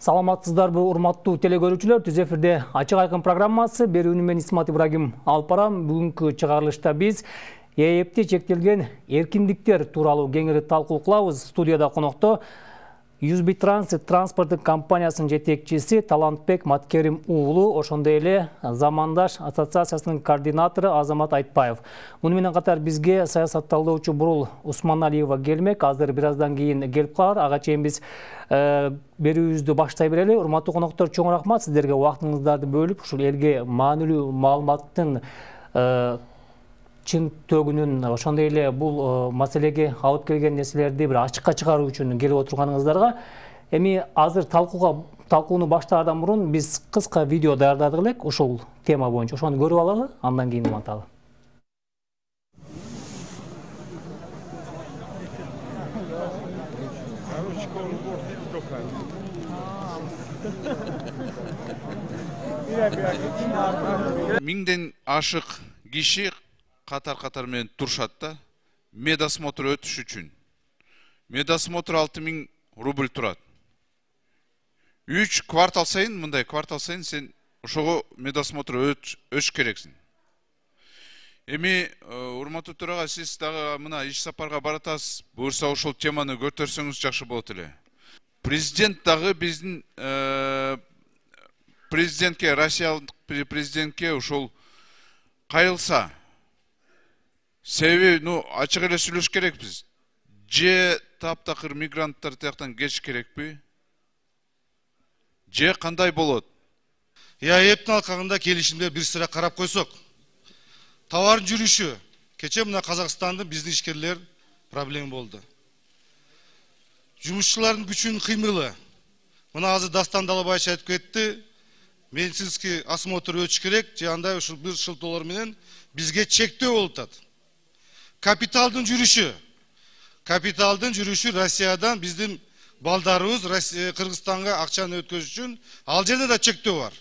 Саламатсыздарбы, урматтуу телекөрүүчүлөр? Түз эфирде Ачык айкын программасы. Берүүнү мен Исмат Ибрагим алып барам. Бүгүнкү чыгарылышта биз ээпти чектелген эркиндиктер тууралуу кеңири талкуу кылабыз. Студияда конокто Юзбит Транзит транспорттук компаниясынын жетекчиси Талантбек Маткерим уулу, ошондой эле Замандаш ассоциациясынын координатору Азамат Айтбаев. Муну менен катар бизге саясатталдоочу Бурул Усманалиева келмек. Азыр бир аздан кийин келип калар. Ага чейин биз берүүбүздү баштай берели. Урматтуу коноктор, чоң рахмат сиздерге убактыңыздарды бөлүп, ушул элге маанилүү маалыматтын чын төгүнүн, ошондой эле бул маселеге алып келген нерселерди бир ачыкка чыгаруу үчүн келип отурганыңыздарга. Эми азыр талкууну баштаардан мурун биз кыска видео даярдадык элек ушул тема боюнча. Ошону көрүп алалы, андан кийин уланталы. Миңден ашык киши катар менен турушат да, медосмотр өтүш үчүн. Медосмотр 6000 рубль турат. 3 квартал сайын, мындай квартал сайын сен ошого медосмотр өтүш керексиң. Эми урматтуу төрага, сиз дагы мына иш сапарга баратасыз. Буюрса ошол теманы көтөрсөңүз жакшы болот эле. Президент дагы биздин президентке, Россиялык президентке ошол кайрылса, себеби, ачык эле сүйлөш керекпиз. Же таптакыр мигранттар тияктан кетиш керекпи? Же кандай болот? ЭАЭптин алкагында келишимде бир сыра карап койсок, товардын жүрүшү, кече мына Казакстандын биздин ишкерлер проблема болду. Жумушчулардын күчүнүн кыймылы. Мына азыр Дастан Далабаевич айтып кетти, медицинский осмотр өтүш керек, же андай ушул бир шылтоолор менен бизге чектөө болуп атат. Капиталдын жүрүшү Россиядан биздин балдарыбыз Кыргызстанга акчаны өткөзүш үчүн ал жерде да чектөө бар.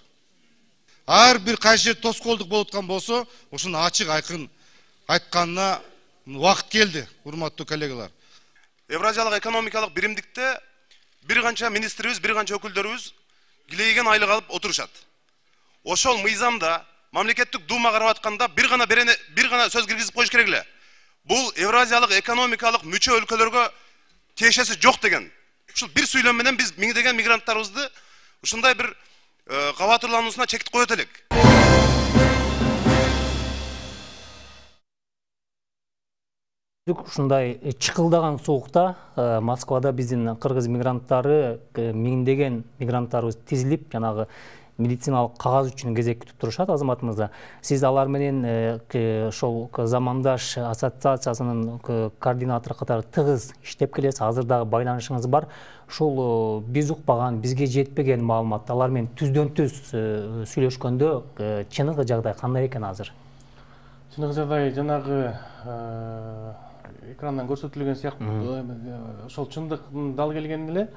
Ар бир кайсы тоскоолдук болуп аткан болсо, ушуну ачык айкын айтканына убакыт келди, урматтуу коллегалар. Евразиялык экономикалык биримдикте бир канча министрибиз, бир канча өкүлдөрүбүз килейген айлык алып отурушат. Ошол мыйзамда мамлекеттик дума карап атканда бир гана сөз киргизип коюш керек эле. Бул Евразиялык экономикалык мүчө өлкөлөргө тиешеси жок деген. Ушул бир сүйлөм менен биз миңдеген мигранттарыбызды ушундай бир кабатырлануусуна чектип коет элек. Ушундай чыкылдаган суукта Москвада биздин кыргыз мигранттары, миңдеген мигранттарыбыз тизилип, жанагы медициналык кагаз үчүн кезек күтүп турушат. Азамат мырза, сиз алар менен ошол Замандаш ассоциациясынын координатору катары тыгыз иштеп келесиз. Азыр дагы байланышыңыз бар. Ушул биз укпаган, бизге жетпеген маалымат, алар менен түздөн-түз сүйлөшкөндө чыныгы жагдай кандай экен азыр? Чыныгы жагдай жанагы экрандан көрсөтүлгөн сыяктуу ошол чындыктын дал келген эле.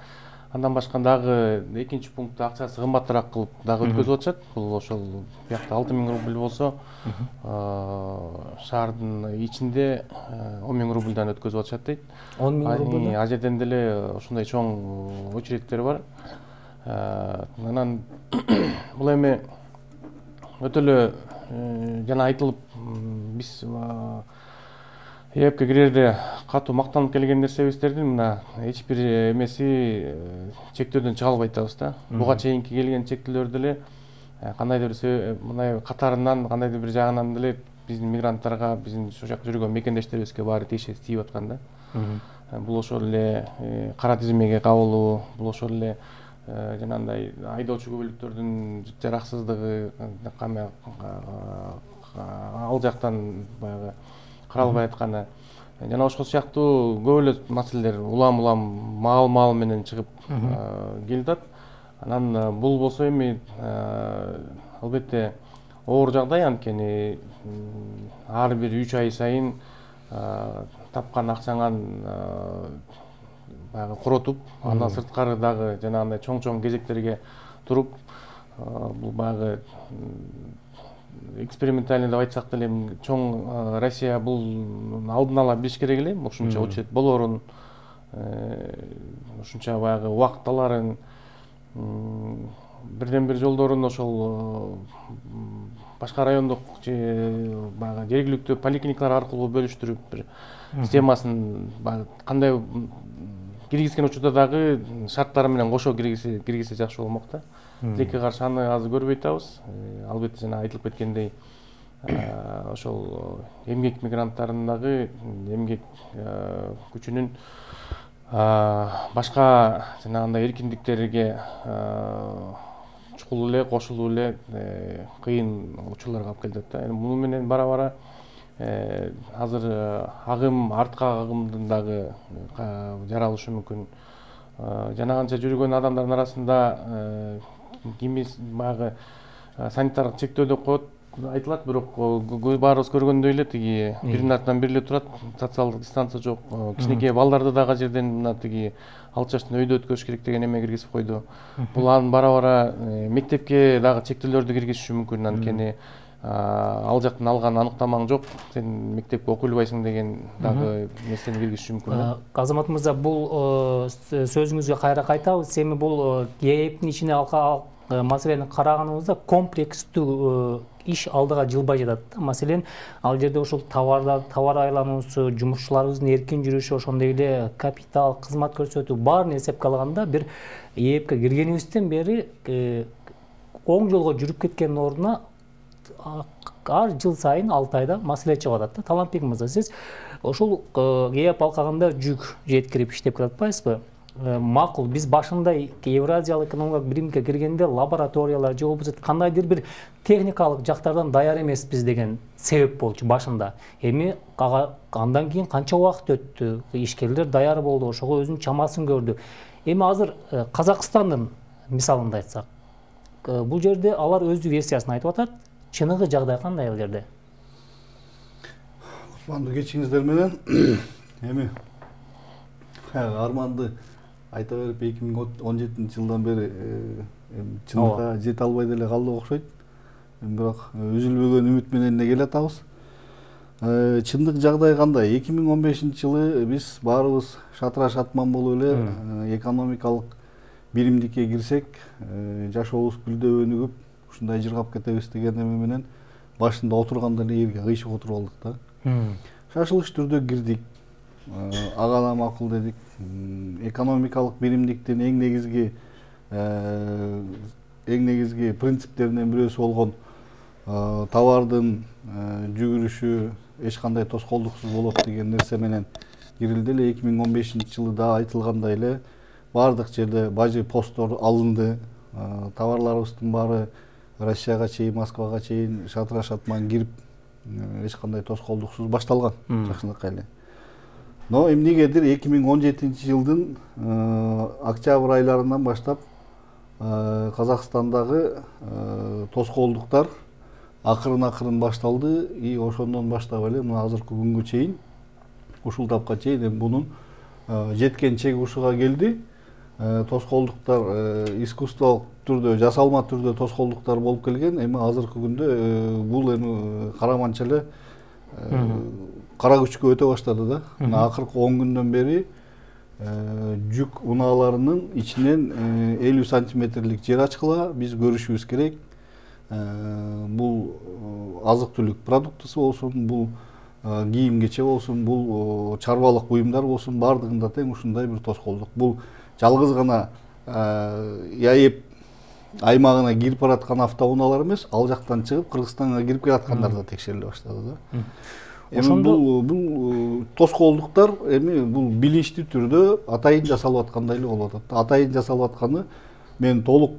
Андан башка дагы экинчи пунктта акчасы кымбатыраак кылып дагы өткөзүп атышат. Бул ошол биякта 6000 рубль болсо, шаардын ичинде 10000 рубльдан өткөзүп атышат дейт. 10000 рубль. Ал жерден деле ошондой чоң очередтер бар. Анан бул эми өтө эле жана айтылып, биз ЭАЭпке кирерде катуу мактанып келген нерсебиздердин мына эч бир эмеси чектөөдөн чыга албайт атабыз да. Буга чейинки келген чектөөлөр деле кандайдыр бир мындай катарынан, кандайдыр бир жагынан деле биздин мигранттарга, биздин ошол жакта жүргөн мекендештерибизге баары тиешеси тийип аткан да. Бул ошол эле кара тизмеге кабылуу, бул ошол эле жанагындай айдоочу көбөлүктөрдүн жараксыздыгы, ал жактан баягы каралбай атканы, жана ошол сыяктуу көп эле маселелер улам маал менен чыгып келип атат. Анан бул болсо эми албетте оор жагдай, анткени ар бир 3 ай сайын тапкан акчаңан баягы коротуп, андан сырткары дагы жанагындай чоң кезектерге туруп, бул баягы экспериментальный деп айтсак деле, чоң Россия бул алдын ала билиш керек эле, ушунча очеред болорун, ушунча баягы убакыт аларын, бирден бир жолдорун ошол башка райондук же баягы жергиликтүү поликлиникалар аркылуу бөлүштүрүп бир системасын кандай киргизген учурда дагы шарттары менен кошо киргизсе жакшы болмок да. Тилекке каршы аны азыр көрбөй атабыз. Албетте жана айтылып кеткендей ошол эмгек мигранттарынын дагы эмгек күчүнүн башка жанагындай эркиндиктерге чукул эле кошулуу эле кыйын учурларга алып келет да. Муну менен бара азыр артка агымдын дагы жаралышы мүмкүн. Жана канча жүргөн адамдардын арасында баягы санитардык чектөө деп коет айтылат, бирок баарыбыз көргөндөй эле тиги биринин артынан бири эле турат, социалдык дистанция жок. Кичинекей балдарды дагы жерден мына тиги 6 жаштын өйдө өткөрүш керек деген эме киргизип койду. Бул анын бара мектепке дагы чектөөлөрдү киргизиши мүмкүн. Анткени ал жактан алган аныктамаң жок, сен мектепке окуй албайсың деген дагы нерсени киргизиши мүмкүн. Азамат мырза, бул сөзүңүзгө кайра кайтабыз. Эми бул ЕЭПтин ичине маселени караганыбызда комплекстүү иш алдыга жылбай жатат. Маселен, ал жерде ошол товар айлануусу, жумушчуларыбыздын эркин жүрүшү, ошондой эле капитал, кызмат көрсөтүү баарын эсепке алганда бир ЕЭПке киргенибизден бери оң жолго жүрүп кеткендин ордуна ар жыл сайын 6 айда маселе чыгып атат да. Талантбек мырза, сиз ошол ЕЭП алкагында жүк жеткирип иштеп келатпайсызбы? Макул, биз башында Евразиялык экономикалык биримге киргенде лабораториялар же болбосо кандайдыр бир техникалык жактардан даяр эмеспиз деген себеп болчу башында. Эми андан кийин канча убакыт өттү, ишкерлер даяр болду, ошого өзүнүн чамасын көрдү. Эми азыр Казакстандын мисалында айтсак, бул жерде алар өздүк версиясын айтып атат. Чыныгы жагдай кандай ал жерде? Кутмандуу кечиңиздер менен эми арманды айта берип 2017-жылдан бери чындыкка жете албай деле калдык окшойт. Бирок үзүлбөгөн үмүт менен эле келатабыз. Чындык жагдай кандай? 2015-жылы биз баарыбыз шатыра шатман болуп эле экономикалык биримдикке кирсек, жашообуз гүлдөп өнүгүп, ушундай жыргап кетебиз деген эме менен башында отурганда эле жерге кыйшык отуруп алдык да. Шашылыш түрдө кирдик. Ага да макул дедик. Экономикалык биримдиктин эң негизги принциптеринен бирөөсү болгон товардын жүгүрүшү эч кандай тоскоолдуксуз болот деген нерсе менен кирилди эле. 2015-жылы да айтылгандай эле баардык жерде бажы посттор алынды. Товарларыбыздын баары Россияга чейин, Москвага чейин шатыра шатман кирип эч кандай тоскоолдуксуз башталган жакшынакай эле. Но эмнегедир 2017-жылдын октябрь айларынан баштап Казакстандагы тоскоолдуктар акырын башталды и ошондон баштап эле мына азыркы күнгө чейин, ушул тапка чейин бунун жеткен чек ушуга келди. Тоскоолдуктар искусстволук түрдө, жасалма түрдө тоскоолдуктар болуп келген. Эми азыркы күндө бул эми караманча эле кара күчкө өтө баштады да. Мына акыркы 10 күндөн бери жүк унааларынын ичинен 50 сантиметрлик жер ачкыла, биз көрүшүбүз керек. Бул азык түлүк продуктысы болсун, бул кийим кече болсун, бул чарбалык буюмдар болсун, бардыгында тең ушундай бир тоскоолдук. Бул жалгыз гана ЕЭП аймагына кирип бараткан автоунаалар эмес, ал жактан чыгып Кыргызстанга кирип келаткандар да текшериле баштады да. Эми бул тоскоолдуктар эми бул билиштүү түрдө атайын жасалып аткандай эле болуп атат. Атайын жасалып атканы мен толук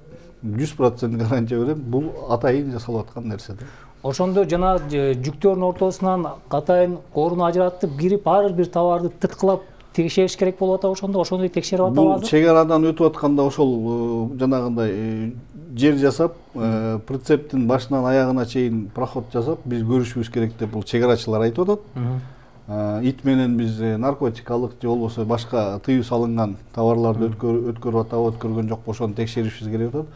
100% гарантия берем, бул атайын жасалып аткан нерсе да. Ошондо жана жүктөрдүн ортосунан атайын орун ажыратып кирип ар бир товарды тыткылап текшериш керек болуп атат. Ошондой текшерип атабыз. Бул чек арадан өтүп атканда ошол жанагындай жер жасап, прицептин башынан аягына чейин проход жасап, биз көрүшүбүз керек деп бул чек арачылар айтып атат. Ит менен биз наркотикалык же болбосо башка тыюу салынган товарларды өткөрүп атабы, өткөргөн жокпу, ошону текшеришибиз керек атат.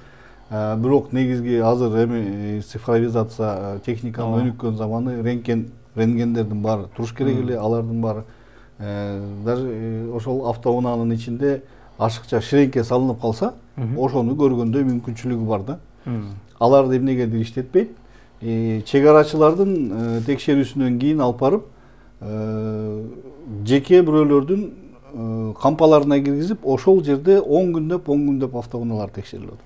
Бирок негизги азыр эми цифровизация техниканын өнүккөн заманы, рентгендердин баары туруш керек эле, алардын баары даже ошол автоунаанын ичинде ашыкча ширеңке салынып калса, ошону көргөндөй мүмкүнчүлүгү бар да. Аларды эмнегедир иштетпейт. Чек арачылардын текшерүүсүнөн кийин алып барып жеке бирөөлөрдүн кампаларына киргизип, ошол жерде 10 күндөп автоунаалар текшерилет.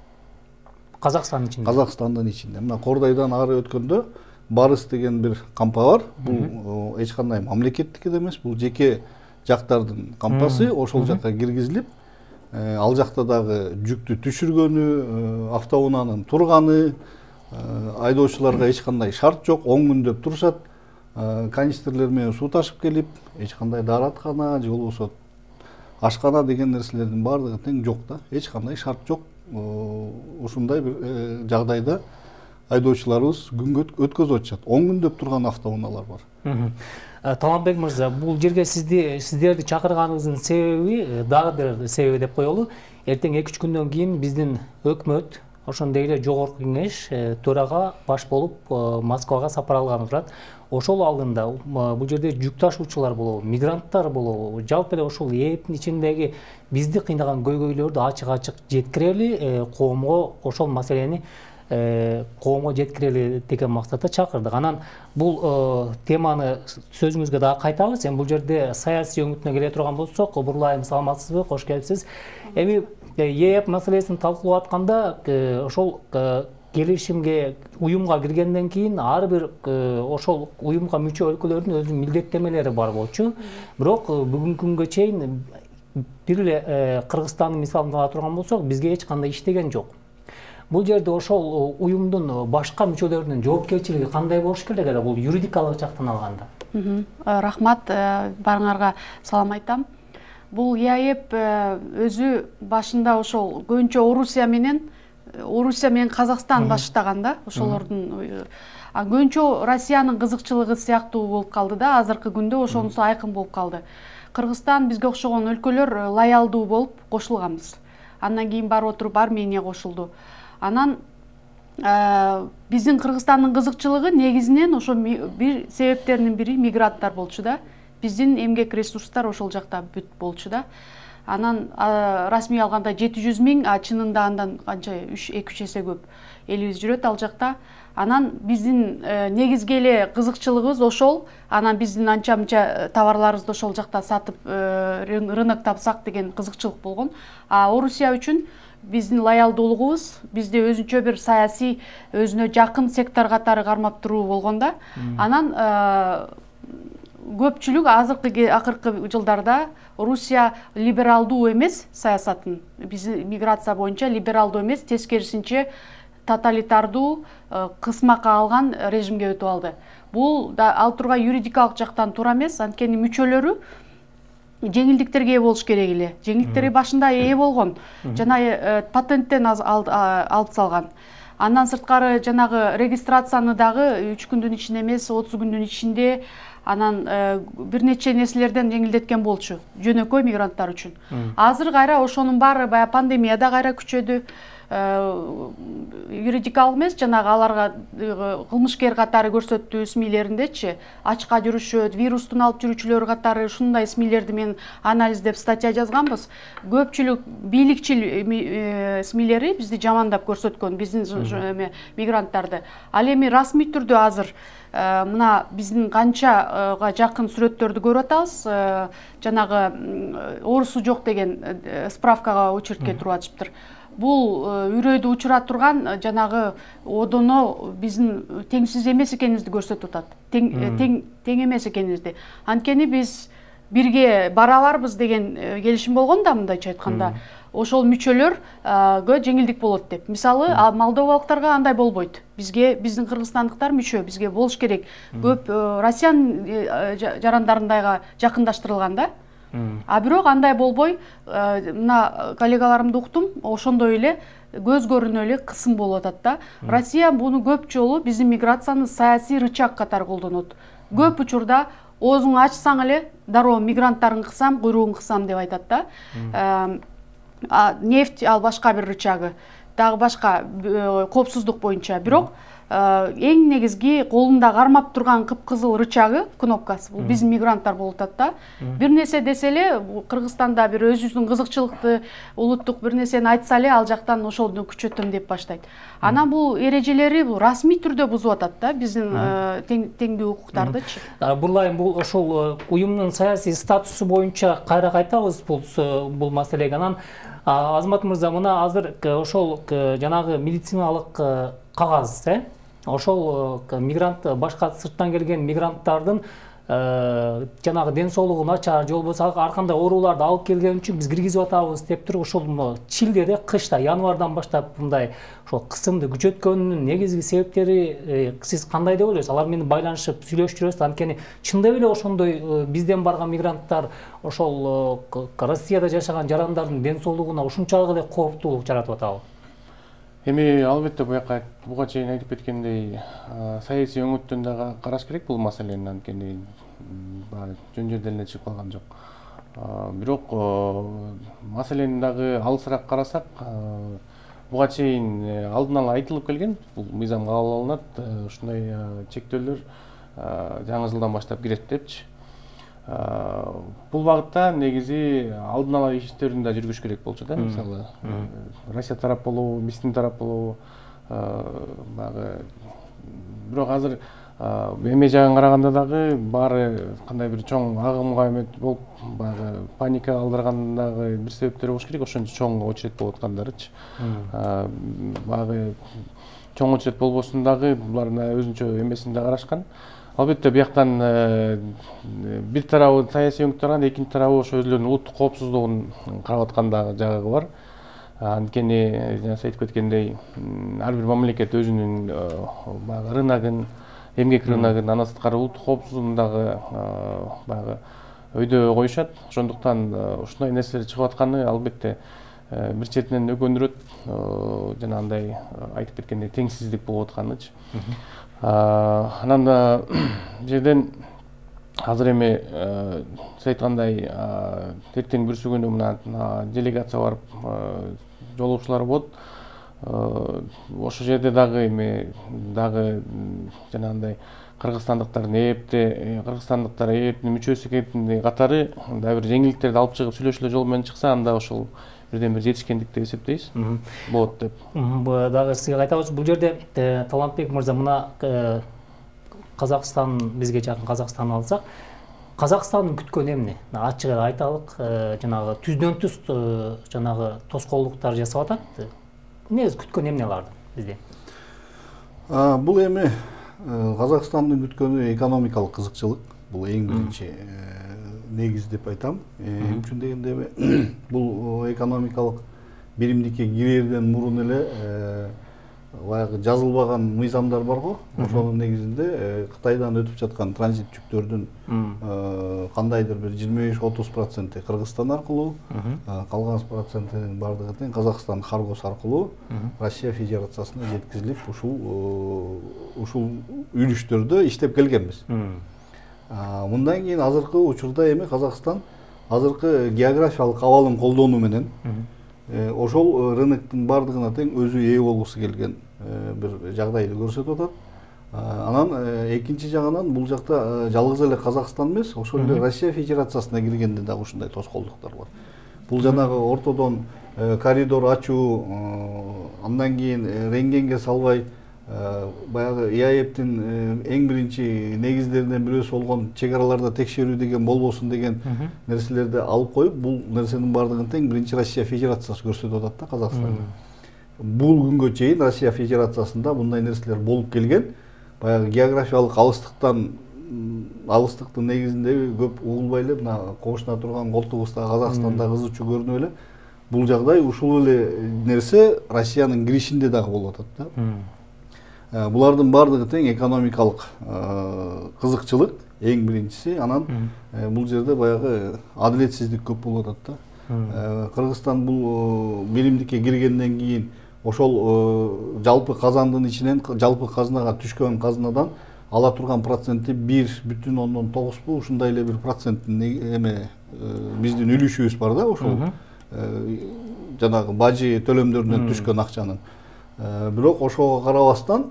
Казакстандын ичинде. Казакстандын ичинде. Мына Кордойдон ары өткөндө Барыс деген бир кампа бар. Бул эч кандай мамлекеттик эмес, бул жеке жактардын кампасы. Ошол жакка киргизилип, ал жакта дагы жүктү түшүргөнү, автоунаанын турганы, айдоочуларга эч кандай шарт жок, 10 күндөп турушат. Канистрлер менен суу ташып келип, эч кандай даараткана же болбосо ашкана деген нерселердин баардыгы тең жок да. Эч кандай шарт жок. Ушундай бир жагдайда айдоочуларыбыз күнгө өткөзүп атышат. 10 күндөп турган автоунаалар бар. Таланбек мырза, бул жерге сиздерди чакырганыңыздын себеби дагы бир себеби деп коелу. Эртең 2-3 күндөн кийин биздин өкмөт, ошондой эле жогорку кеңеш төрага баш болуп Москвага сапар алганы турат. Ошол алдында бул жерде жүк ташуучулар болобу, мигранттар болобу, жалпы эле ошол ээптин ичиндеги бизди кыйнаган көйгөйлөрдү ачык жеткирели, коомго ошол маселени коомго жеткирели деген максатта чакырдык. Анан бул теманы сөзүңүзгө дагы кайтабыз. Бул жерде саясий өңүтүнө келе турган болсок, Бурулайым, саламатсызбы? Кош келипсиз. Эми ээп маселесин талкуулап атканда ошол келишимге, уюмга киргенден кийин ар бир ошол уюмга мүчө өлкөлөрдүн өзүнүн милдеттемелери бар болчу. Бирок бүгүнкү күнгө чейин бир эле Кыргызстандын мисалын ала турган болсок, бизге эч кандай иштеген жок. Бул жерде ошол уюмдун башка мүчөлөрүнүн жоопкерчилиги кандай болуш керек эле бул юридикалык жактан алганда? Рахмат, барыңарга салам айтам. Бул ЭАЭП өзү башында ошол көбүнчө Орусия менен Казакстан баштаган да, ошолордун көбүнчө Россиянын кызыкчылыгы сыяктуу болуп калды да, азыркы күндө ошонусу айкын болуп калды. Кыргызстан бизге окшогон өлкөлөр лоялдуу болуп кошулганбыз. Андан кийин барып отуруп Армения кошулду. Анан биздин Кыргызстандын кызыкчылыгы негизинен ошо бир себептеринин бири мигранттар болчу да. Биздин эмгек ресурстар ошол жакта бүт болчу да. Анан расмий алганда 700 000, чынында андан канча 2-3 эсе көп элибиз жүрөт ал жакта. Анан биздин негизги эле кызыкчылыгыбыз ошол. Анан биздин анча-мынча товарларыбызды ошол жакта сатып рынок тапсак деген кызыкчылык болгон. Орусия үчүн биздин лоялдуулугубуз бизде өзүнчө бир саясий өзүнө жакын сектор катары кармап туруу болгон да. Анан көпчүлүк акыркы жылдарда Орусия либералдуу эмес саясатын, биздин миграция боюнча либералдуу эмес, тескерисинче тоталитардуу, кысмакка алган режимге өтүп алды. Бул да ал тургай юридикалык жактан туура эмес, анткени мүчөлөрү жеңилдиктерге ээ болуш керек эле. Жеңилдиктерге башында ээ болгон. Жана патенттен алып салган. Андан сырткары жанагы регистрацияны дагы 3 күндүн ичинде эмес, 30 күндүн ичинде, анан бир нече нерселерден жеңилдеткен болчу жөнөкөй мигранттар үчүн. Азыр кайра ошонун баары бая пандемияда кайра күчөдү. Юридикалык эмес, жанагы аларга кылмышкер катары көрсөттүү СМИлериндечи ачка жүрүшөт, вирустун алып жүрүүчүлөр катары ушундай СМИлерди мен анализдеп статья жазганбыз. Көпчүлүк бийликчил СМИлери бизди жамандап көрсөткөн, биздин мигранттарды. Ал эми расмий түрдө азыр мына биздин канчага жакын сүрөттөрдү көрүп атабыз. Жанагы оорусу жок деген справкага очередке туруп атышыптыр. Бул үрөйдү учура турган жанагы одоно биздин теңсиз эмес экенибизди көрсөтүп атат. Тең эмес экенибизди. Анткени биз бирге бара аларбыз деген келишим болгон да, мындайча айтканда. Ошол мүчөлөргө жеңилдик болот деп. Мисалы, молдовалыктарга андай болбойт. Биздин кыргызстандыктар мүчө, бизге болуш керек. Көп Россиянын жарандарындайга жакындаштырылган да. Бирок андай болбой, мына коллегаларымды уктум, ошондой эле көз көрүнө эле кысым болуп атат да. Россия буну көп жолу биздин миграцияны саясий рычаг катары колдонот. Көп учурда оозуңду ачсаң эле дароо мигранттарын кысам, куйругун кысам деп айтат да. Нефть ал башка бир рычагы. дагы башка коопсуздук боюнча. Бирок эң негизги колунда кармап турган кыпкызыл рычагы, кнопкасы бул биздин мигранттар болуп атат да. Бир нерсе десе эле Кыргызстанда бир өзүбүздүн кызыкчылыкты, улуттук бир нерсени айтса эле ал жактан ошону күчөтөм деп баштайт. Анан бул эрежелери бул расмий түрдө бузуп атат да биздин теңдүү укуктардычы. Бурлайым, бул ошол уюмдун саясий статусу боюнча кайра кайтабыз бул маселеге. Анан Азамат мырза, мына азыр ошол жанагы медициналык кагаз, ошол мигрант, башка сырттан келген мигранттардын жанагы ден соолугу начар, же болбосо ар кандай ооруларды алып келген үчүн биз киргизип атабыз деп туруп, ошол чилдеде, кышта, январдан баштап мындай ошол кысымды күчөткөнүнүн негизги себептери сиз кандай деп ойлойсуз? Алар менен байланышып сүйлөшүп жүрөсүз? Анткени чындап эле ошондой бизден барган мигранттар ошол Россияда жашаган жарандардын ден соолугуна ушунчалык эле кооптуулук жаратып атабы? Эми албетте буга чейин айтып кеткендей, саясий өңүттөн дагы караш керек бул маселени, анткени жөн жерден эле чыгып калган жок. Бирок маселени дагы алысыраак карасак, буга чейин алдын ала айтылып келген, бул мыйзам кабыл алынат, ушундай чектөөлөр жаңы жылдан баштап кирет депчи. Бул багытта негизи алдын ала иштерин да жүргүш керек болчу да, мисалы Россия тарап болобу, биздин тарап болобу, баягы. Бирок азыр эме жагын караганда дагы баары кандай бир чоң агымга эмет болуп, баягы паника калтырган дагы бир себептери болуш керек, ошончо чоң очередь болуп аткандарычы. Баягы чоң очередь болбосун дагы булардын өзүнчө эмесин да карашкан. Албетте бияктан бир тарабы саясий өңүт тарабы, экинчи тарабы ошо өзүлөрүнүн улуттук коопсуздугун карап аткан жагы бар. Анткени жана айтып кеткендей, ар бир мамлекет өзүнүн баягы рыногун, эмгек рыногун, андан сырткары улуттук коопсуздугун дагы баягы өйдө коюшат. Ошондуктан ушундай нерселер чыгып атканы албетте бир четинен өгөндүрөт, жанагындай айтып кеткендей теңсиздик болуп атканычы. Анан жерден азыр эми сиз айткандай эртең бүрсүгүнү мына делегация барып жолугушуулар болот. Ошол жерде дагы эми жанагындай кыргызстандыктардын ээптин мүчөсү экендиги катары дагы бир жеңилдиктерди алып чыгып сүйлөшүүлөр жолу менен чыкса, анда ошол бирден бир жетишкендик деп эсептейбиз. Болот деп. Дагы сизге кайтабыз. Бул жерде Талантбек мырза, мына Казакстан, бизге жакын Казакстанды алсак, Казакстандын күткөнү эмне? Ачык эле айталык, жанагы түздөн түз жанагы тоскоолдуктар жасап атат. Негизи күткөнү эмне алардын бизде? Бул эми Казакстандын күткөнү экономикалык кызыкчылык. Бул эң биринчи негиз деп айтам. Эмне үчүн дегенде бул экономикалык биримдикке кирерден мурун эле баягы жазылбаган мыйзамдар барго. Ошонун негизинде Кытайдан өтүп жаткан транзит жүктөрдүн кандайдыр бир 25-30% Кыргызстан аркылуу, калган процентинин бардыгы тең Казакстан каргосу аркылуу Россия Федерациясына жеткизилип, ушул үлүштөрдө иштеп келгенбиз. Мындан кийин азыркы учурда эми Казакстан азыркы географиялык абалын колдонуу менен ошол рыноктун бардыгына тең өзү ээ болгусу келген бир жагдайды көрсөтүп атат. Анан экинчи жагынан бул жакта жалгыз эле Казакстан эмес, ошол эле Россия Федерациясына киргенде дагы ушундай тоскоолдуктар бар. Бул жанагы ортодон коридор ачуу, андан кийин рентгенге салбай баягы ИАЭПтин эң биринчи негиздеринен бирөөсү болгон чек араларда текшерүү деген болбосун деген нерселерди алып коюп, бул нерсенин бардыгын тең биринчи Россия Федерациясы көрсөтүп атат да Казакстанга. Бул күнгө чейин Россия Федерациясында мындай нерселер болуп келген. Баягы географиялык алыстыктын негизинде көп угулбай эле мына кошуна турган колтугубузда Казакстанда кызычуу көрүнүп эле. Бул жагдай ушул эле нерсе Россиянын киришинде дагы болуп атат да. Булардын бардыгы тең экономикалык кызыкчылык эң биринчиси. Анан бул жерде баягы адилетсиздик көп болуп атат да. Кыргызстан бул биримдикке киргенден кийин ошол жалпы казандын ичинен жалпы казынага түшкөн казынадан ала турган проценти 1,9 ушундай эле бир проценттин эме биздин үлүшүбүз бар да ошол жанагы бажы төлөмдөрүнөн түшкөн акчанын. Бирок ошого карабастан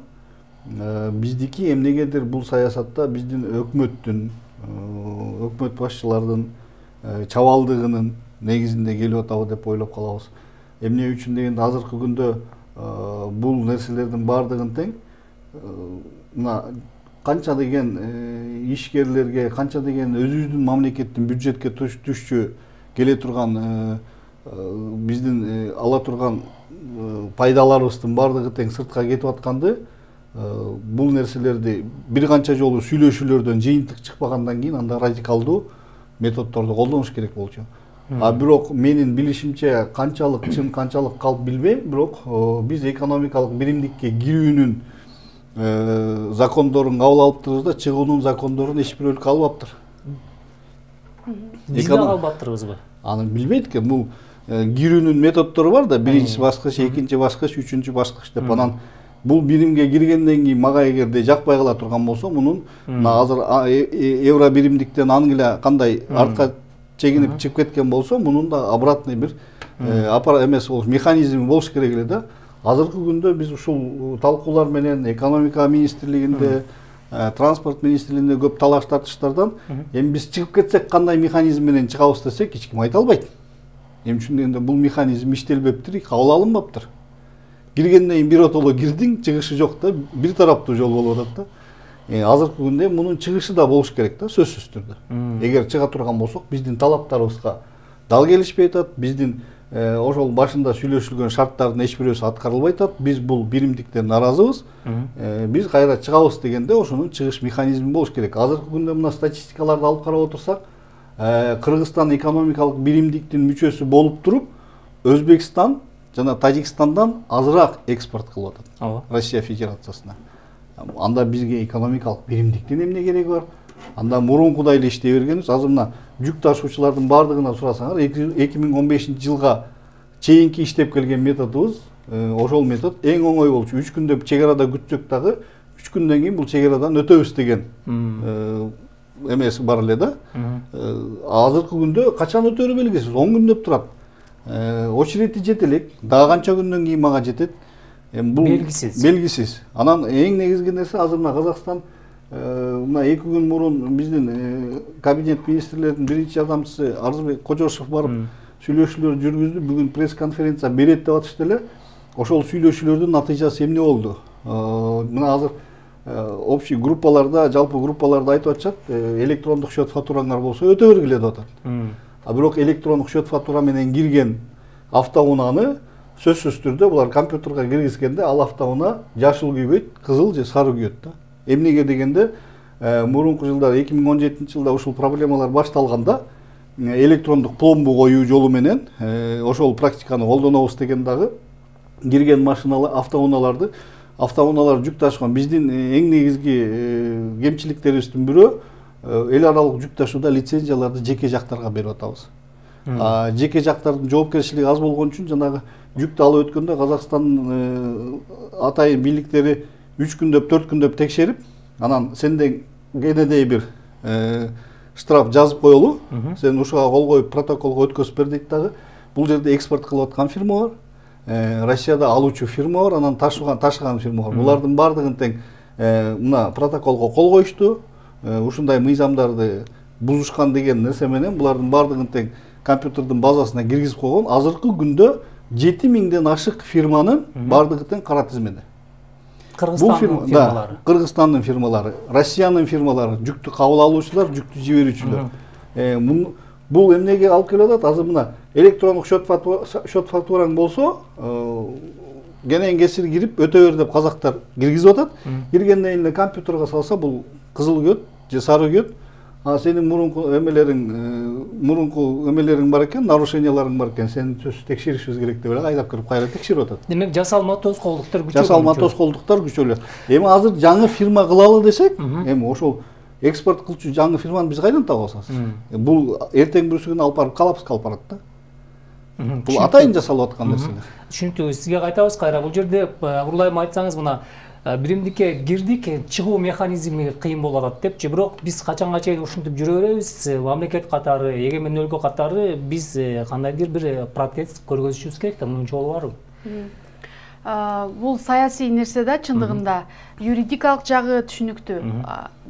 биздики эмнегедир бул саясатта биздин өкмөттүн, өкмөт башчылардын чабалдыгынын негизинде келип атабы деп ойлоп калабыз. Эмне үчүн дегенде азыркы күндө бул нерселердин баардыгын тең мына канча деген ишкерлерге, канча деген өзүбүздүн мамлекеттин бюджетке түшчү келе турган биздин ала турган пайдаларыбыздын баардыгы тең сыртка кетип атканды бул нерселерди бир канча жолу сүйлөшүүлөрдөн жыйынтык чыкпагандан кийин анда радикалдуу методдорду колдонуш керек болчу. Бирок менин билишимче канчалык чын канчалык калп билбейм, бирок биз экономикалык биримдикке кирүүнүн закондорун кабыл алыптырбыз да, чыгуунун закондорун эч бир өлкө албаптыр. Биз да албаптырбызбы? Аны билбейт экен. Бул кирүүнүн методдору бар да, биринчи баскыч, экинчи баскыч, үчүнчү баскыч деп. Анан бул биримге киргенден кийин мага эгерде жакпай кала турган болсо, мунун азыр евро биримдиктен ангилия кандай артка чегинип чыгып кеткен болсо, мунун да обратный бир эмеси болуш, механизми болуш керек эле да. Азыркы күндө биз ушул талкуулар менен экономика министрлигинде, транспорт министрлигинде көп талаш тартыштардан эми биз чыгып кетсек кандай механизм менен чыгабыз десек эч ким айта албайт. Эмне үчүн дегенде бул механизм иштелбептир, кабыл алынбаптыр. Киргенден кийин биротоло кирдиң, чыгышы жок да, бир тараптуу жол болуп атат да. Азыркы күндө мунун чыгышы да болуш керек да, сөзсүз түрдө. Эгер чыга турган болсок, биздин талаптарыбызга дал келишпей атат, биздин ошол башында сүйлөшүлгөн шарттардын эч бирөөсү аткарылбай атат. Биз бул биримдиктен наразыбыз. Биз кайра чыгабыз дегенде ошонун чыгыш механизми болуш керек. Азыркы күндө мына статистикаларды алып карап отурсак, Кыргызстан экономикалык биримдиктин мүчөсү болуп туруп, Өзбекстан жана Тажикстандан азыраак экспорт кылып атат Россия Федерациясына. Анда бизге экономикалык биримдиктин эмне кереги бар? Анда мурункудай эле иштей бергенбиз. Азыр мына жүк ташуучулардын баардыгына сурасаңар, 2015-жылга чейинки иштеп келген методубуз, ошол метод эң оңой болчу. 3 күндө чек арада күтсөк дагы 3 күндөн кийин бул чек арадан өтөбүз деген эмеси бар эле да. Азыркы күндө качан өтөрү белгисиз, 10 күндөп турат. Очереди жете элек, дагы канча күндөн кийин мага жетет. Бул белгисиз. Анан эң негизги нерсе азыр мына Казакстан мына 2 күн мурун биздин кабинет министрлердин биринчи жардамчысы Арзыбек Кожошов барып сүйлөшүүлөр жүргүздү. Бүгүн пресс-конференция берет деп атышты эле. Ошол сүйлөшүүлөрдүн натыйжасы эмне болду? Мына азыр общий группаларда, жалпы группаларда айтып атышат, электрондук счет фатураңар болсо өтө бергиле деп атат. Бирок электрондук счет фатура менен кирген автоунааны сөзсүз түрдө булар компьютерге киргизгенде ал автоунаа жашыл күйбөйт, кызыл же сары күйөт да. Эмнеге дегенде мурунку жылдары 2017-жылда ушул проблемалар башталганда электрондук пломбу коюу жолу менен ошол практиканы колдонобуз деген дагы кирген машиналар, автоунаалар жүк ташыган биздин эң негизги кемчиликтерибиздин бирөө эл аралык жүк ташууда лицензияларды жеке жактарга берип атабыз. Жеке жактардын жоопкерчилиги аз болгон үчүн жанагы жүктү алып өткөндө Казакстан атайын бийликтери 3 күндөп, 4 күндөп текшерип, анан сенден кенедей бир штраф жазып коелу, сен ушуга кол коюп протоколго өткөзүп бер дейт дагы. Бул жерде экспорт кылып аткан фирма бар, Россияда алуучу фирма бар, анан ташыган фирма бар. Булардын баардыгын тең мына протоколго кол коюшту. Ушундай мыйзамдарды бузушкан деген нерсе менен булардын баардыгын тең компьютердин базасына киргизип койгон. Азыркы күндө 7000ден ашык фирманын баардыгы тең кара тизмеде. Кыргызстандын фирмалары. Кыргызстандын фирмалары, Россиянын фирмалары, жүктү кабыл алуучулар, жүктү жиберүүчүлөр. Бул эмнеге алып келип атат? Азыр мына электрондук счет фатураң болсо, кенен кесир кирип өтө бер деп казактар киргизип атат. Киргенден кийин компьютерге салса бул кызыл күйөт же сары күйөт. Сенин мурунку эмелериң бар экен, нарушенияларың бар экен, сени текшеришибиз керек деп эле айдап кирип кайра текшерип атат. Демек жасалма тоскоолдуктар күчөлүп. Жасалма тоскоолдуктар күчөлүп. Эми азыр жаңы фирма кылалы десек, эми ошол экспорт кылчу жаңы фирманы биз кайдан табабыз азыр? Бул эртең бүрсү күнү алып барып коллапска алып барат да. Бул атайын жасалып аткан нерселер. Түшүнүктүү. Сизге кайтабыз кайра. Бул жерде урулайым айтсаңыз, мына биримдикке кирдик, чыгуу механизми кыйын болуп атат депчи, бирок биз качанга чейин ушинтип жүрө беребиз? Мамлекет катары, эгемен өлкө катары биз кандайдыр бир протест көргөзүшүбүз керек да, мунун жолу барбы? Бул саясий нерсе да, чындыгында юридикалык жагы түшүнүктүү.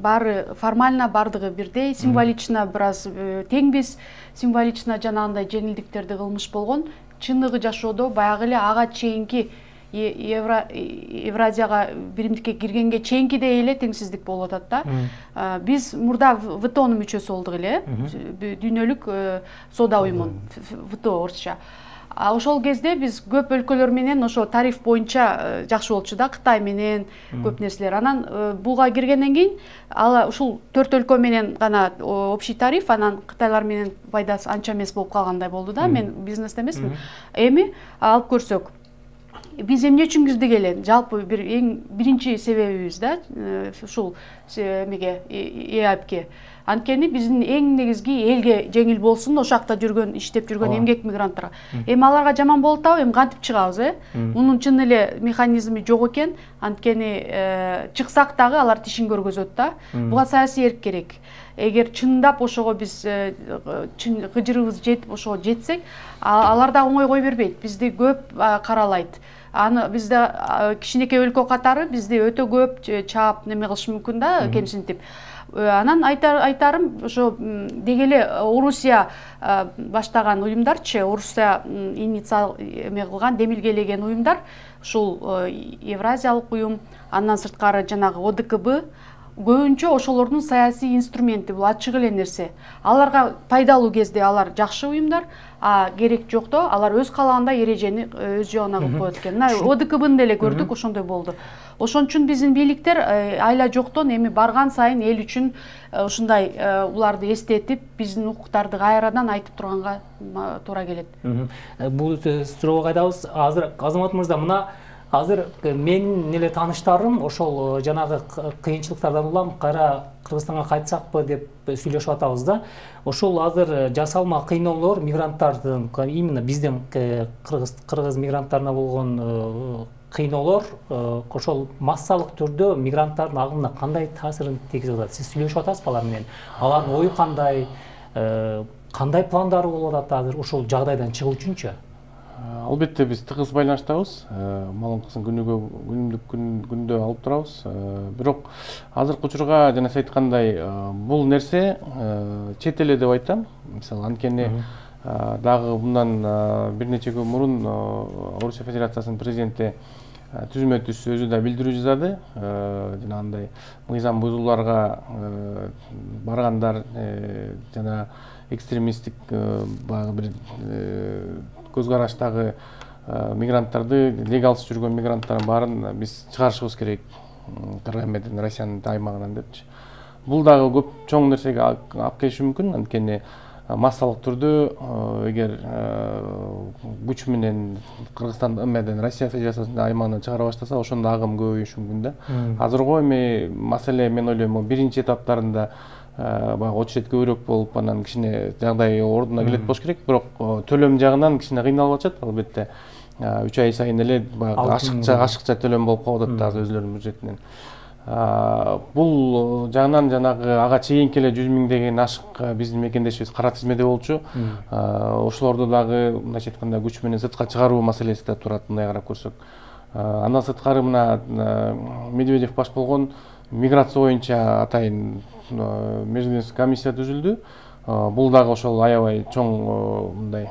Баары формально бардыгы бирдей, символично бир аз теңбиз, символично жанагындай жеңилдиктерди кылмыш болгон. Чындыгы жашоодо баягы эле ага чейинки Евразияга биримдикке киргенге чейинкидей эле теңсиздик болуп атат да. Биз мурда ВТОнун мүчөсү болдук эле, дүйнөлүк соода уюмунун, ВТО орусча. Ошол кезде биз көп өлкөлөр менен ошо тариф боюнча жакшы болчу да, Кытай менен көп нерселер. Анан буга киргенден кийин ушул 4 өлкө менен гана общий тариф, анан Кытайлар менен пайдасы анча эмес болуп калгандай болду да. Мен бизнесте эмесмин. Эми алып көрсөк, биз эмне үчүн кирдик эле? Жалпы биринчи себебибиз да, ушул эмеге, ЭАПке. Анткени биздин эң негизги элге жеңил болсун, ошол жакта жүргөн, иштеп жүргөн эмгек мигранттарга. Эми аларга жаман болуп атабы, эми кантип чыгабыз, Мунун чын эле механизми жок экен. Анткени чыксак дагы алар тишин көргөзөт да. Буга саясий эрк керек. Эгер чындап ошого биз кыжырыбыз жетип ошого жетсек, алар да оңой кой бербейт. Бизди көп каралайт. Аны бизде кичинекей өлкө катары бизди өтө көп чаап неме кылышы мүмкүн да, кемсинтип. Анан айтарым, ошо деги эле Орусия баштаган уюмдарчы, Орусия эме кылган, демилгелеген уюмдар, ушул Евразиялык уюм, андан сырткары жанагы ОДКБ, көбүнчө ошолордун саясий инструменти, бул ачык эле нерсе. Аларга пайдалуу кезде алар жакшы уюмдар, а керек жокто алар өз каалагандай эрежени өз жогуна кылып коет экен. Мына ОДКБны деле көрдүк, ошондой болду. Ошон үчүн биздин бийликтер айла жоктон эми барган сайын эл үчүн ушундай уларды эстетип, биздин укуктарды кайрадан айтып турганга туура келет. Бул суроого кайтабыз. Азыр Азамат мырза, мына азыр менин эле тааныштарым ошол жанагы кыйынчылыктардан улам кайра Кыргызстанга кайтсакпы деп сүйлөшүп атабыз да. Ошол азыр жасалма кыйноолор мигранттардын, именно биздин кыргыз мигранттарына болгон кыйноолор ошол массалык түрдө мигранттардын агымына кандай таасирин тийгизип атат? Сиз сүйлөшүп атасызбы алар менен? Алардын ою кандай пландары болуп атат азыр ошол жагдайдан чыгуу үчүнчү? Албетте биз тыгыз байланыштабыз. Маалыматтын күндө алып турабыз. Бирок азыркы учурга жана сиз айткандай бул нерсе чет эле деп айтам. Мисалы анткени дагы мындан бир нече күн мурун Орусия Федерациясынын президенти түзмө түз өзү да билдирүү жазды. Жанагындай мыйзам бузууларга баргандар жана экстремисттик баягы бир көз караштагы мигранттарды, легалсыз жүргөн мигранттардын баарын биз чыгарышыбыз керек Кыргызстандын, Россиянын аймагынан депчи. Бул дагы көп чоң нерсеге алып келиши мүмкүн. Анткени массалык түрдө эгер күч менен Кыргызстан эмеден Россия Федерациясынын аймагынан чыгара баштаса, ошондо агым көбөйүшү мүмкүн да. Азыркы эми маселе мен ойлойм биринчи этаптарында баягы очередь көбүрөөк болуп, анан кичине жагдай ордуна келет болуш керек. Бирок төлөм жагынан кичине кыйналып атышат. Албетте 3 ай сайын эле баягы ашыкча төлөм болуп калып атат азыр өзлөрүнүн бюджетинен. Бул жагынан жанагы ага чейинки эле 100 миңдеген ашык биздин мекендешибиз кара тизмеде болчу. Ошолорду дагы мындайча айтканда күч менен сыртка чыгаруу маселеси да турат, мындай карап көрсөк. Андан сырткары мына Медведев баш болгон миграция боюнча атайын межведомственный комиссия түзүлдү. Бул дагы ошол аябай чоң мындай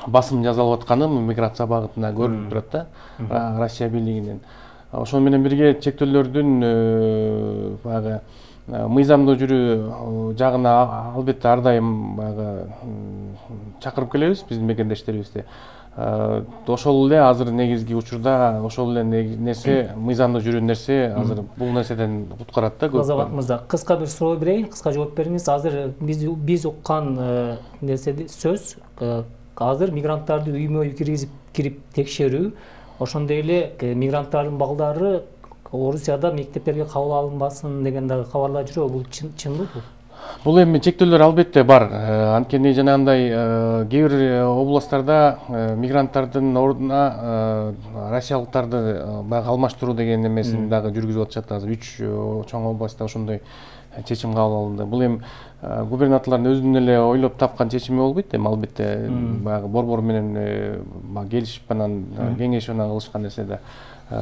басым жасалып атканы миграция багытына көрүнүп турат да, Россия бийлигинен. Ошол менен бирге чектөөлөрдүн баягы мыйзамдуу жүрүү жагына албетте ар дайым баягы чакырып келебиз биздин мекендештерибизди. Ошол эле азыр негизги учурда ошол эле нерсе, мыйзамдуу жүрүү нерсе азыр бул нерседен куткарат да көп. Азамат мырза, кыска бир суроо берейин, кыска жооп бериңиз. Азыр биз уккан нерседи сөз азыр мигранттарды үймө-үй кирип текшерүү, ошондой эле мигранттардын балдары Орусияда мектептерге кабыл алынбасын деген дагы кабарлар жүрөбү. Бул чынбы бул? Бул эми чектөөлөр албетте бар. Анткени жанагындай кээ бир областтарда мигранттардын ордуна россиялыктарды баягы алмаштыруу деген эмесин дагы жүргүзүп атышат. Азыр 3 чоң областта ошондой чечим кабыл алынды. Бул эми губернаторлордун өзүнүн эле ойлоп тапкан чечими болбойт. Эми албетте баягы борбор менен келишип анан кеңешип анан кылышкан нерсе да.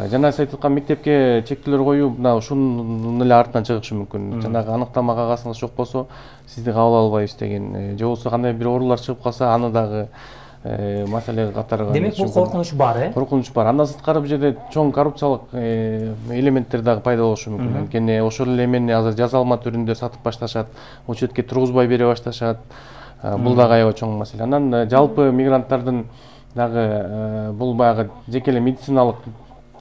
Жана сиз айтып аткан мектепке чектөөлөр коюу мына ушунун эле артынан чыгышы мүмкүн. Жанагы аныктама кагазыңыз жок болсо, сизди кабыл албайбыз деген, же болбосо кандай бир оорулар чыгып калса, аны дагы маселе катары. Демек бул коркунуч бар, Коркунуч бар. Андан сырткары бул жерде чоң коррупциялык элементтер дагы пайда болушу мүмкүн. Анткени ошол эле эмени азыр жазалма түрүндө сатып башташат, учетке тургузбай бере башташат. Бул дагы аябай чоң маселе. Анан жалпы мигранттардын дагы бул баягы жеке эле медициналык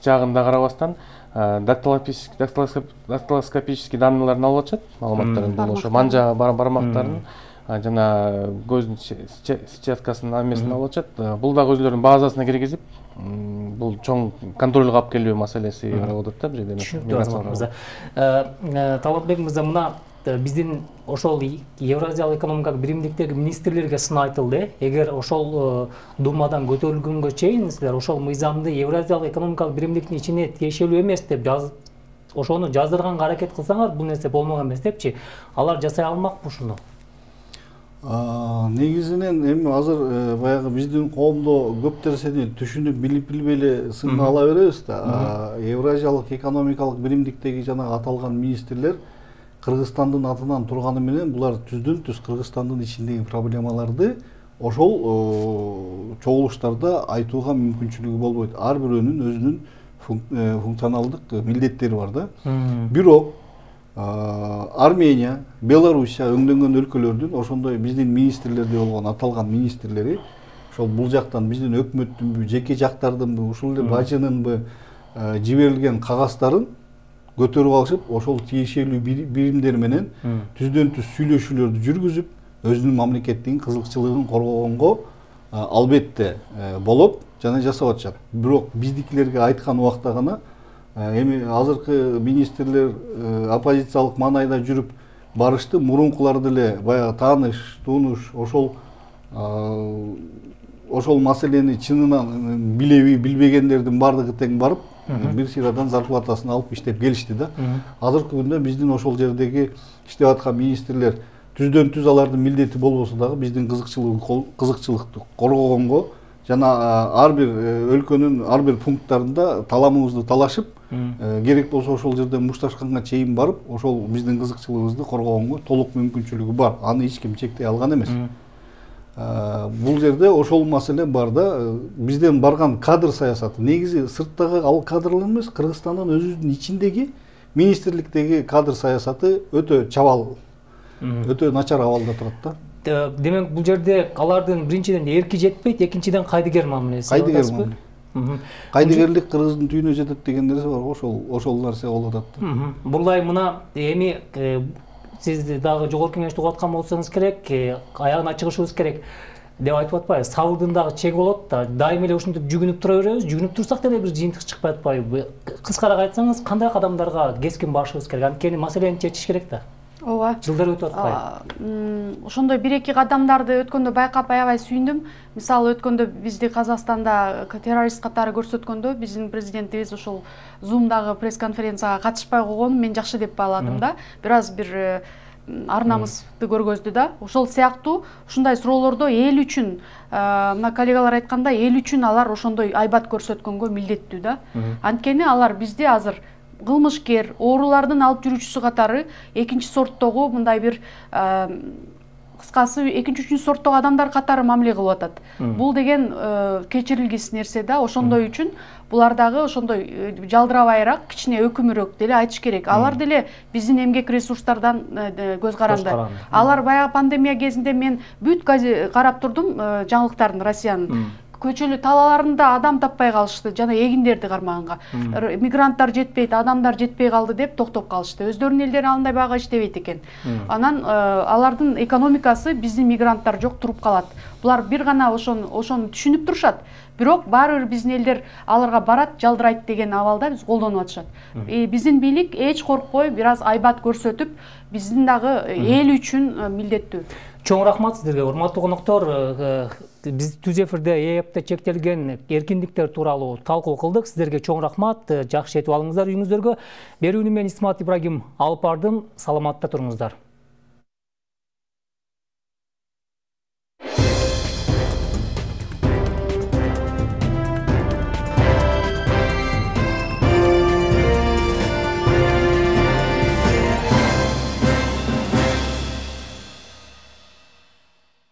жагында карабастан дактилоскопический данныйларын алып атышат, маалыматтарын, бул ошо манжа бармактарын жана көздүн сетчаткасынын эмесин алып атышат. Бул дагы өзүлөрүнүн базасына киргизип, бул чоң контролго алып келүү маселеси каралып атат да бул жерде. Түшүнүктүү. Талапбек мырза, мына биздин ошол Евразиялык экономикалык биримдиктеги министрлерге сын айтылды. Эгер ошол Думадан көтөрүлгөнгө чейин силер ошол мыйзамды Евразиялык экономикалык биримдиктин ичине тиешелүү эмес деп ошону жаздырганга аракет кылсаңар, бул нерсе болмок эмес депчи. Алар жасай алмакпы ушуну? Негизинен эми азыр баягы биздин коомдо көп нерсени түшүнүп билбей эле сынга ала беребиз да. Евразиялык экономикалык биримдиктеги жана аталган министрлер Кыргызстандын атынан турганы менен булар түздөн-түз Кыргызстандын ичиндеги проблемаларды ошол чогулуштарда айтууга мүмкүнчүлүгү болбойт. Ар бирөөнүн өзүнүн функционалдык милдеттери бар да. Бирок Армения, Белоруссия өңдөнгөн өлкөлөрдүн ошондой биздин министрлерде болгон аталган министрлери ошол бул жактан биздин өкмөттүнбү, жеке жактардынбы, ушул эле бажынынбы жиберилген кагаздарын көтөрүп алышып, ошол тиешелүү биримдер менен түздөн-түз сүйлөшүүлөрдү жүргүзүп, өзүнүн мамлекеттигин кызыкчылыгын коргогонго албетте болуп жана жасап атышат. Бирок биздикилерге айткан убакта гана эми азыркы министрлер оппозициялык маанайда жүрүп барышты, мурункулар деле баягы тааныш, тунуш ошол маселени чынынан билеби, билбегендердин бардыгы тең барып бир сыйрадан зарплатасын алып иштеп келишти да. Азыркы күндө биздин ошол жердеги иштеп аткан министрлер түздөн-түз алардын милдети болбосо дагы биздин кызыкчылыкты коргогонго жана ар бир өлкөнүн ар бир пункттарында таламыбызды талашып, керек болсо ошол жерден мушташканга чейин барып, ошол биздин кызыкчылыгыбызды коргогонго толук мүмкүнчүлүгү бар. Аны эч ким чектей алган эмес. Бул жерде ошол маселе бар да. Бизден барган кадр саясаты негизи сырттагы ал кадрлар эмес, Кыргызстандын өзүнүн ичиндеги министрликтеги кадр саясаты өтө чабал, өтө начар абалда турат да. Демек бул жерде алардын биринчиден эрки жетпейт, экинчиден кайдыгер мамилеси. Кайдыгер мамиле. Кайдыгерлик Кыргыздын түйүнө жетет деген нерсе бар, ошол нерсе болуп атат. Бурлай мына эми сиз дагы жогорку кеңеште угуп аткан болсоңуз керек, аягына чыгышыбыз керек деп айтып атпайбы? Сабырдын дагы чеги болот да. Дайыма эле ушинтип жүгүнүп тура беребиз. Жүгүнүп турсак деле бир жыйынтык чыкпай атпайбы? Кыскараак айтсаңыз, кандай кадамдарга кескин барышыбыз керек? Анткени маселени чечиш керек да. Ооба. Жылдар өтүп атпайбы? Ошондой бир-эки кадамдарды өткөндө байкап аябай сүйүндүм. Мисалы өткөндө бизди Казакстанда террорист катары көрсөткөндө биздин президентибиз ошол Zoom'дагы пресс-конференцияга катышпай койгонун мен жакшы деп бааладым да. Бир аз бир ар намысты көргөздү да. Ошол сыяктуу ушундай суроолордо эл үчүн, мына коллегалар айткандай, эл үчүн алар ошондой айбат көрсөткөнгө милдеттүү да. Анткени алар бизди азыр кылмышкер, оорулардын алып жүрүүчүсү катары экинчи сорттогу мындай бир кыскасы экинчи, үчүнчү сорттогу адамдар катары мамиле кылып атат. Бул деген кечирилгис нерсе да. Ошондой үчүн булар дагы ошондой жалдырабайраак, кичине өкүмүрөөк деле айтыш керек. Алар деле биздин эмгек ресурстардан көз каранды. Алар баягы пандемия кезинде мен бүт карап турдум жаңылыктарын Россиянын. көчөлү талаларында адам таппай калышты, жана эгиндерди кармаганга. Мигранттар жетпейт, адамдар жетпей калды деп токтоп калышты. Өздөрүнүн элдери андай бага иштебейт экен. Анан алардын экономикасы биздин мигранттар жок туруп калат. Булар бир гана ошону түшүнүп турушат. Бирок баары бир биздин элдер аларга барат, жалдырайт деген абалда биз колдонуп атышат. Биздин бийлик эч коркпой, бир аз айбат көрсөтүп, биздин дагы эл үчүн милдеттүү. Чоң рахмат сиздерге, урматтуу коноктор. Биз түз эфирде ЭЭПте чектелген эркиндиктер тууралуу талкуу кылдык. Сиздерге чоң рахмат. Жакшы жетип алыңыздар үйүңүздөргө. Берүүнү мен Исмат Ибрагим алып бардым. Саламатта туруңуздар.